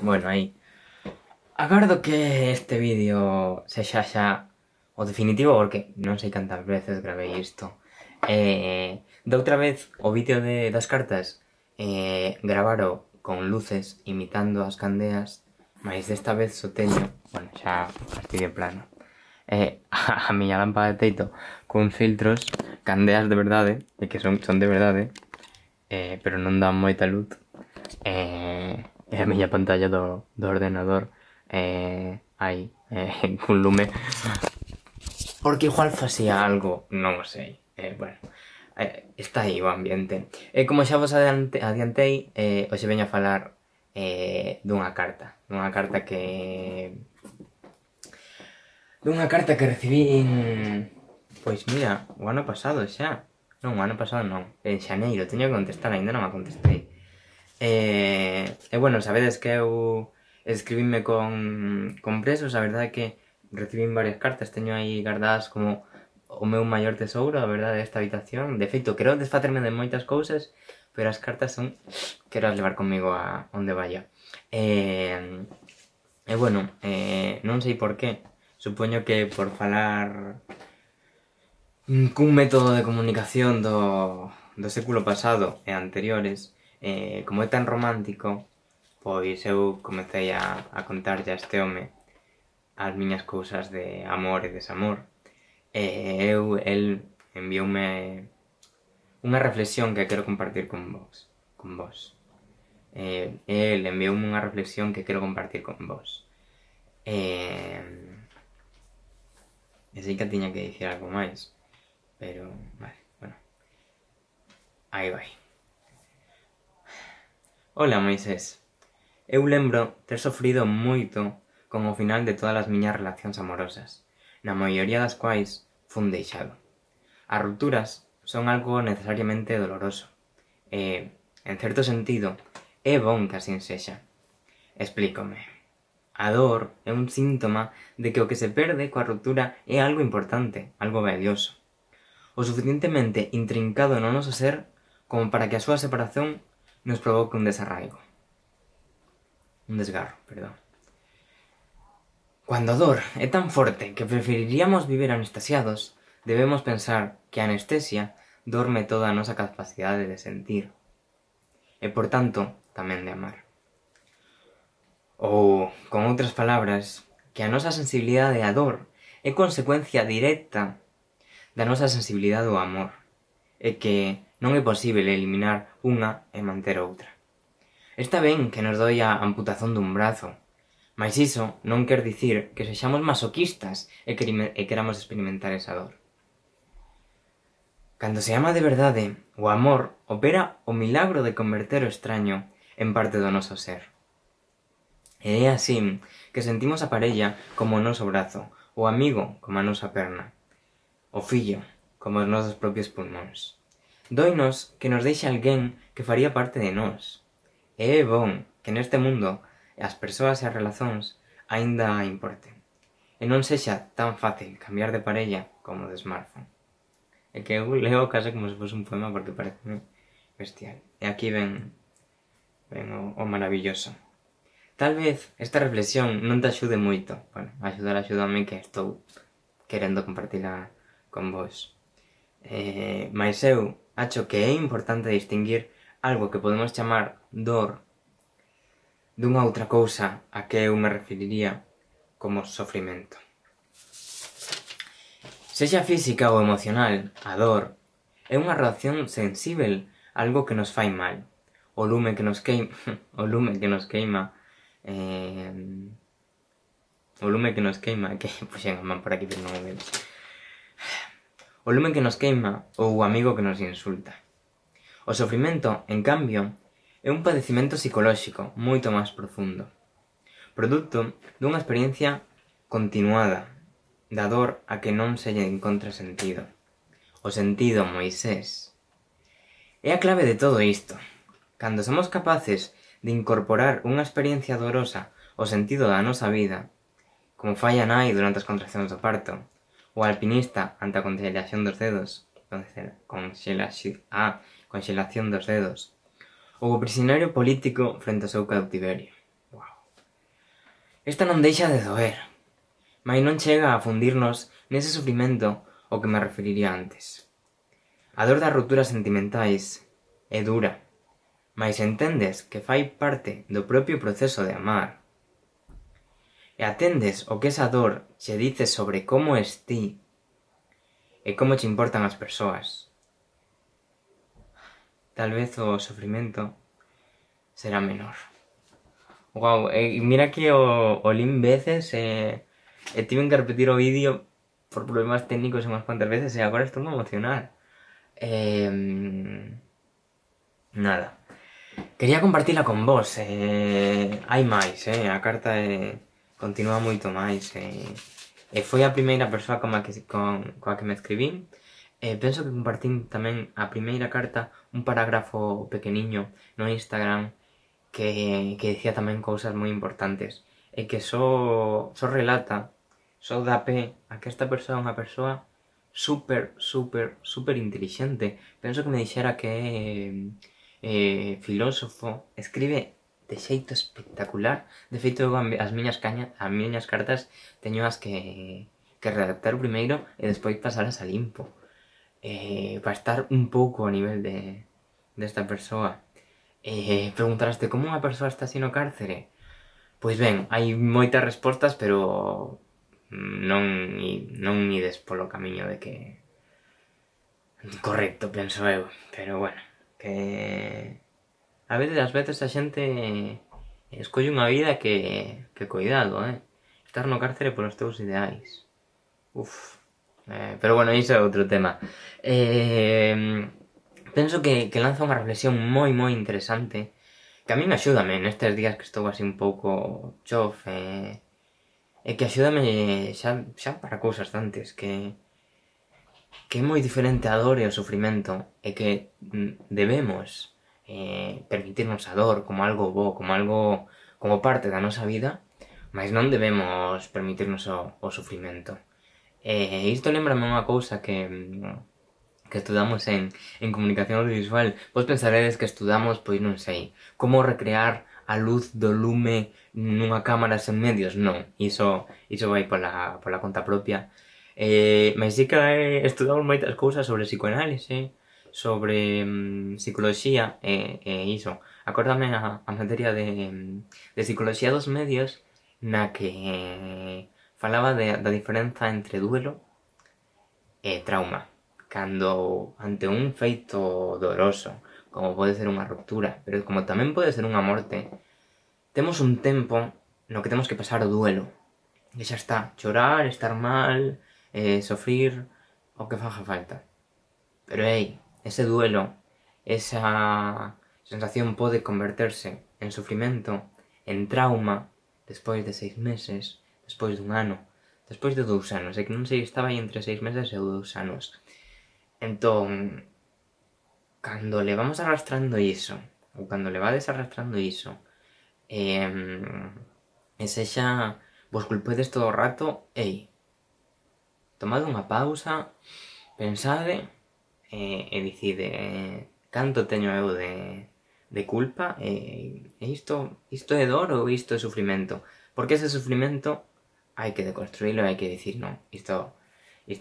Bueno, aí. Agardo que este vídeo sexa xa o definitivo porque non sei cantas veces gravei isto. Da outra vez o vídeo das cartas gravaro con luces imitando as candeas, mas desta vez só teño, bueno, xa fastidio plano. A miña lámpada de teito con filtros, candeas de verdade, e que son de verdade, pero non dan moita luz. E a miña pantalla do ordenador aí, cun lume, porque igual facía algo, non o sei. Bueno, está aí o ambiente. Como xa vos adiantei, hoxe veño a falar dunha carta que recibín, pois mira, o ano pasado xa. Non, o ano pasado non, en xaneiro, teño que contestar, aínda non a contestei. Bueno, sabedes que eu escribíme con presos, a verdade é que recibín varias cartas, teño aí guardadas como o meu maior tesouro, a verdade, desta habitación. De feito, quero desfacerme de moitas cousas, pero as cartas son, quero as levar comigo a onde vaya. Bueno, non sei por qué, supoño que por falar cun método de comunicación do século pasado e anteriores, como é tan romántico, pois eu comecei a contarlle a este home as miñas cousas de amor e desamor. El envioume unha reflexión que quero compartir con vos. El envioume unha reflexión que quero compartir con vos. E sei que tiña que dicir algo máis, pero, vale, bueno. Aí vai. Ola, Moisés. Eu lembro ter sofrido moito con o final de todas as miñas relacións amorosas, na maioría das quais fun deixado. As rupturas son algo necesariamente doloroso, e, en certo sentido, é bon que así sexa. Explícome. A dor é un síntoma de que o que se perde coa ruptura é algo importante, algo valioso, o suficientemente intrincado no noso ser como para que a súa separación nos provoque un desgarro, perdón. Cando a dor é tan forte que preferiríamos viver anestesiados, debemos pensar que a anestesia dorme toda a nosa capacidade de sentir, e por tanto, tamén de amar. Ou, con outras palabras, que a nosa sensibilidade á dor é consecuencia directa da nosa sensibilidade ao amor, e que non é posible eliminar unha e manter outra. Está ben que nos doi a amputación dun brazo, mas iso non quer dicir que sexamos masoquistas e queramos experimentar esa dor. Cando se ama de verdade, o amor opera o milagro de converter o extraño en parte do noso ser. E é así que sentimos a parella como o noso brazo, o amigo como a nosa perna, o fillo como os nosos propios pulmóns. Doinos que nos deixe alguén que faría parte de nós. E é bon que neste mundo as persoas e as relacións aínda importen, e non sexa tan fácil cambiar de parella como de smartphone. É que eu leo case como se fose un poema porque parece bestial. E aquí ven o maravilloso. Tal vez esta reflexión non te axude moito. Bueno, axúdame que estou querendo compartila con vos. Mais eu acho que é importante distinguir algo que podemos chamar dor dunha outra cousa a que eu me referiría como sofrimento. Sexa física ou emocional, a dor é unha reacción sensíbel a algo que nos fai mal. O lume que nos queima, que puxen a man por aquí, pero non o vedes. O lume que nos queima ou o amigo que nos insulta. O sofrimento, en cambio, é un padecimento psicolóxico moito máis profundo, produto dunha experiencia continuada da dor a que non se lle encontra sentido. O sentido, Moisés. É a clave de todo isto. Cando somos capaces de incorporar unha experiencia dolorosa ao sentido da nosa vida, como fai a nai durante as contraccións do parto, o alpinista ante a congelación dos dedos, congelación dos dedos, ou o prisioneiro político frente ao seu cautiverio. Wow. Esta non deixa de doer, mas non chega a fundirnos nese sufrimento ao que me referiría antes. A dor das rupturas sentimentais é dura, mas entendes que fai parte do propio proceso de amar, e atendes o que esa dor che dice sobre como es ti e como che importan as persoas, tal vez o sofrimento será menor. Guau, mira que o lin veces e tiven que repetir o vídeo por problemas técnicos unhas cuantas veces e agora estou moi emocional. Nada. Quería compartila con vos. Hai máis, a carta continúa moito máis. Foi a primeira persoa coa que me escribín. Penso que compartín tamén a primeira carta un parágrafo pequeniño no Instagram que dicía tamén cousas moi importantes e que só relata, só dá pé a que esta persoa é unha persoa super intelixente. Penso que me dixera que é filósofo, escribe de xeito espectacular. De feito, as miñas cartas teño as que redactar primeiro e despois pasalas a limpo, para estar un pouco a nivel desta persoa. Preguntaraste como unha persoa está así no cárcere? Pois ben, hai moitas respostas, pero non ides polo camiño de que correcto, penso eu. Pero bueno, que ás veces a xente escolle unha vida que cuidado, estar no cárcere polos teus ideais. Pero bueno, iso é outro tema. Penso que lanza unha reflexión moi interesante que a min axúdame nestes días que estou así un pouco chof, e que axúdame xa para cousas antes, que é moi diferente a dor e o sufrimento, e que debemos permitirnos a dor como algo bo, como parte da nosa vida, mas non debemos permitirnos o sufrimento. Isto lembrame unha cousa que estudamos en comunicación audiovisual. Vos pensaredes que estudamos, pois non sei, como recrear a luz do lume nunha cámara sen medios. Non, iso vai pola conta propia. Mas sí que estudamos moitas cousas sobre psicoanálise, sobre psicoloxía e iso. Acórdame a materia de psicoloxía dos medios na que falaba da diferenza entre duelo e trauma. Cando ante un feito doloroso, como pode ser unha ruptura, pero como tamén pode ser unha morte, temos un tempo no que temos que pasar o duelo. E xa está, chorar, estar mal, sofrir o que faga falta. Pero ese duelo, esa sensación pode converterse en sufrimento, en trauma, despois de 6 meses, despois dun ano, despois de 2 anos. E que non sei, estaba aí entre 6 meses e 2 anos. Entón, cando le vamos arrastrando iso, ou cando le vades arrastrando iso, e sexa, vos culpedes todo o rato, tomade unha pausa, pensade, e dicide canto teño eu de culpa, e isto é dor ou isto é sufrimento? Porque ese sufrimento hai que deconstruílo, hai que dicir, non, isto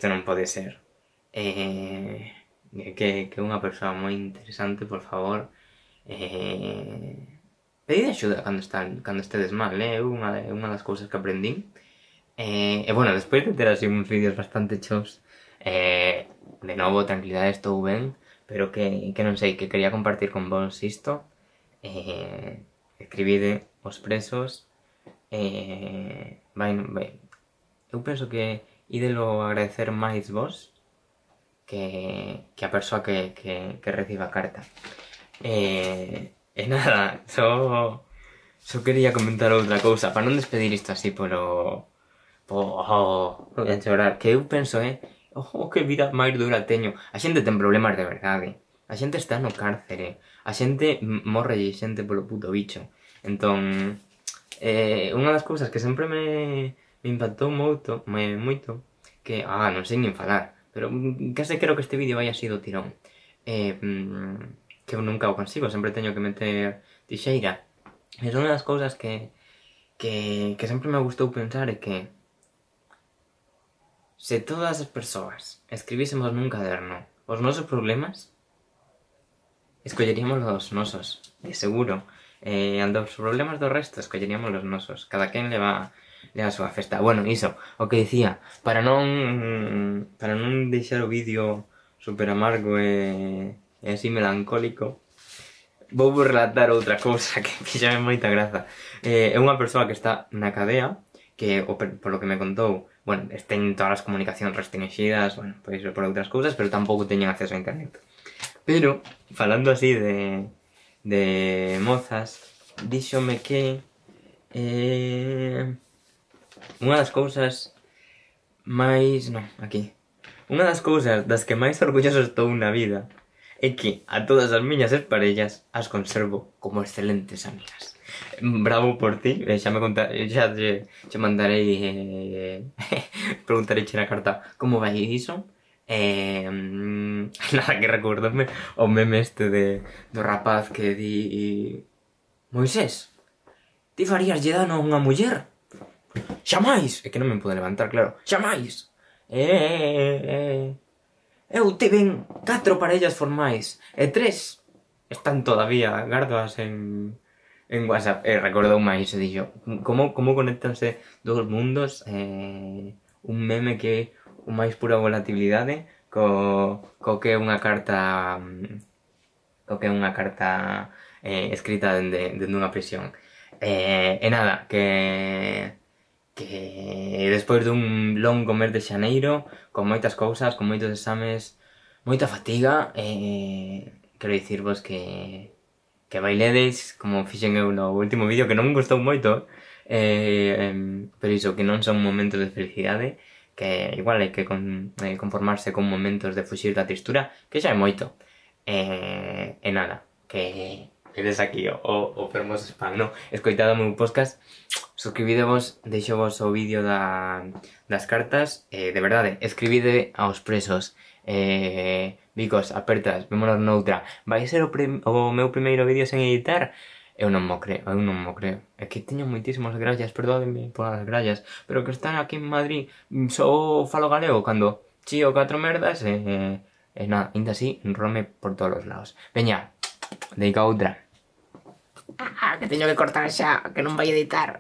non pode ser. Que unha persoa moi interesante, por favor, pedide axuda cando estedes mal, é unha das cousas que aprendín. E bueno, despois de ter así uns vídeos bastante chos, de novo, tranquilidade, estou ben, pero que non sei, que quería compartir con vos isto. Escribide os presos, eu penso que ídelo agradecer máis vos que a persoa que reciba a carta. Nada, só quería comentar outra cousa, para non despedir isto así voy a chorar, que eu penso, que vida máis dura teño. A xente ten problemas de verdade, a xente está no cárcere, a xente morre xente polo puto bicho. Entón, unha das cousas que sempre me impactou moito, que, non sei nin falar, pero case creo que este vídeo vai así do tirón, que eu nunca o consigo, sempre teño que meter tixeira. É unha das cousas que que sempre me gustou pensar é que se todas as persoas escribísemos nun caderno os nosos problemas, escolleríamos os nosos, de seguro. Os problemas do resto escolleríamos os nosos. Cada quen leva a súa festa. Bueno, iso, o que dicía, para non deixar o vídeo super amargo e así melancólico, vou relatar outra cousa que fixame moita graza. É unha persoa que está na cadea, que, polo que me contou, bueno, ten todas as comunicacións restringidas, bueno, pois por outras cousas, pero tampouco teñen acceso a internet. Pero, falando así de mozas, díxome que unha das cousas máis... non, aquí. Unha das cousas das que máis orgulloso estou na vida é que a todas as miñas exparellas as conservo como excelentes amigas. Bravo por ti, xa che mandarei preguntarei na carta como vai iso. Nada, que recordome o meme este do rapaz que di: Moisés, ti farías lle dano a unha muller? Xamais! É que non me pode levantar, claro. Xamais! Eu tiven 4 parellas formais e 3 están todavía, gardoas en WhatsApp. Recordou máis, e dixo, como conectanse dos mundos, un meme que o máis pura volatilidade co que é unha carta escrita dende unha prisión. E nada, que despois dun longo mes de xaneiro, con moitas cousas, con moitos exames, moita fatiga, quero dicirvos que bailedes, como fixen eu no último vídeo, que non me gustou moito, pero iso, que non son momentos de felicidade, que igual hai que conformarse con momentos de fuxir da tristura, que xa é moito. E nada, que eres aquí o fermoso spam, no? Escoitado o meu podcast, suscribidevos, deixovos o vídeo das cartas, de verdade, escribide aos presos. Bicos, apertas, vémonos noutra. Vai ser o meu primeiro vídeo sen editar? Eu non mo creo. É que teño moitísimas grallas, perdódenme polas grallas, pero que están aquí en Madrid só falo galego cando chío 4 merdas e nada, ainda así enrome por todos os lados. Veña, dedica outra. Que teño que cortar xa, que non vai editar.